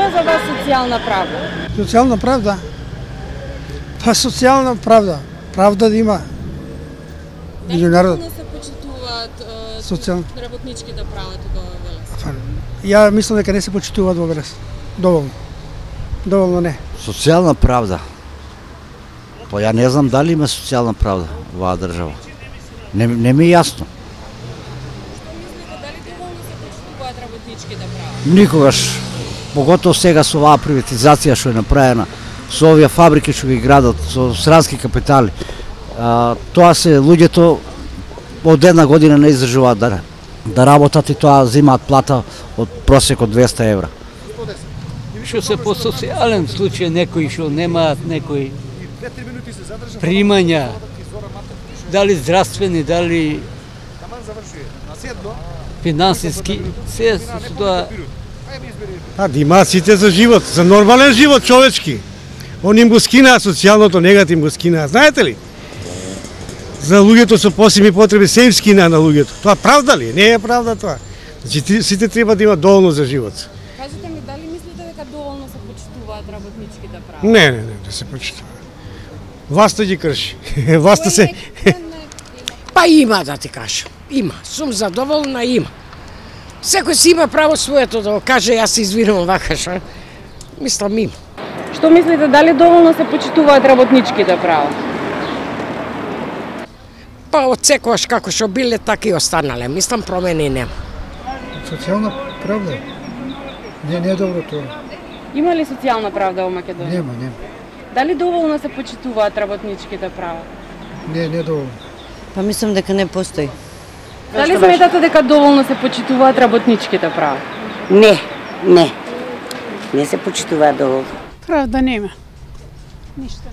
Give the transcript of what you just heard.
е за вас социјална правда? Социјална правда? Па социјална правда. Правда да има. Дали доволно се почитуваат работничките права тука во Велес? Ја мислам дека не се почитуваат во Велес. Доволно. Доволно не. Социјална правда. Па ја не знам дали има социјална правда во оваа држава. Не ми е јасно. Што мислите, дали доволно се почитуваат работничките права? Никогаш. Поготово сега со оваа приватизација што е направена, со овие фабрики што ги градат, со странски капитали. Тоа се луѓето од една година не издржуваат да работат и тоа земаат плата од просек од 200 евра. Што се по социјален случај, некои што немаат некои примања, дали здравствени, дали финансиски, се со тоа. Да имаат сите за живот, за нормален живот, човечки. Они им го скинаа социјалното, негатив го скинаа, знаете ли? За луѓето со посебни потреби се им скинаа на луѓето. Тоа правда ли? Не е правда тоа. Значи сите треба да имаат доволно за живот. Кажете ми, дали мислите дека доволно се почитуваат работничките права? Не се почитува. Власта ги крши. Власта се... Па има, да ти кажам. Има. Сум задоволна, има. Секој си има право своето да го каже, јас се извинувам вака што. Мислам има. Што мислите, дали доволно се почитуваат работничките права? Па од секојаш како што биле, така и останале. Мислам промени нема. Социјална правда? Не е добро тоа. Има ли социјална правда во Македонија? Нема. Дали доволно се почитуваат работничките права? Не доволно. Па мислам дека не постои. Дали сметате дека доволно се почитуваат работничките права? Не се почитуваат доволно. Правда нема. Ништо.